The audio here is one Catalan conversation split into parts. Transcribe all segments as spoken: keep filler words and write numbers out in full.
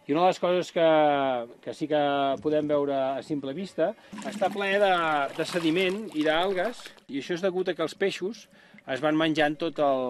I una de les coses que, que sí que podem veure a simple vista està ple de, de sediment i d'algues, i això és degut a que els peixos es van menjant tots el,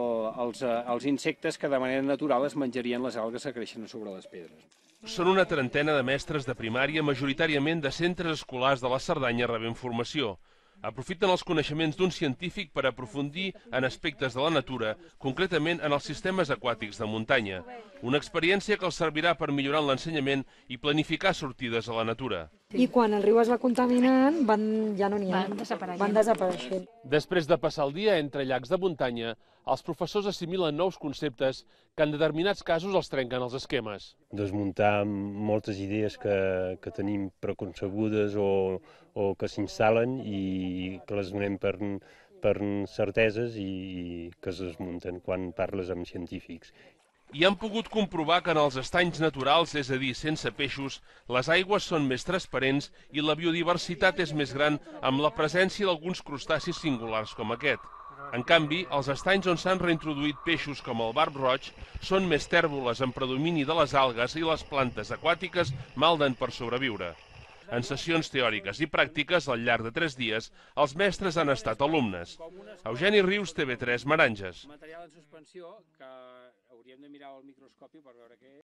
els, els insectes que de manera natural es menjarien les algues que creixen sobre les pedres. Són una trentena de mestres de primària, majoritàriament de centres escolars de la Cerdanya, rebent formació. Aprofiten els coneixements d'un científic per aprofundir en aspectes de la natura, concretament en els sistemes aquàtics de muntanya. Una experiència que els servirà per millorar l'ensenyament i planificar sortides a la natura. I quan el riu es va contaminant, van, ja no n'hi ha, Van desapareixent. van desapareixent. Després de passar el dia entre llacs de muntanya, els professors assimilen nous conceptes que en determinats casos els trenquen els esquemes. Desmuntar moltes idees que, que tenim preconcebudes o, o que s'instal·len i que les donem per, per certeses i que es desmunten quan parles amb científics. I han pogut comprovar que en els estanys naturals, és a dir, sense peixos, les aigües són més transparents i la biodiversitat és més gran amb la presència d'alguns crustacis singulars com aquest. En canvi, els estanys on s'han reintroduït peixos com el barb roig són més tèrboles en predomini de les algues i les plantes aquàtiques malden per sobreviure. En sessions teòriques i pràctiques, al llarg de tres dies, els mestres han estat alumnes. Eugeni Rius, T V tres, Meranges. Material en suspensió que hauríem de mirar al microscopi per veure què és.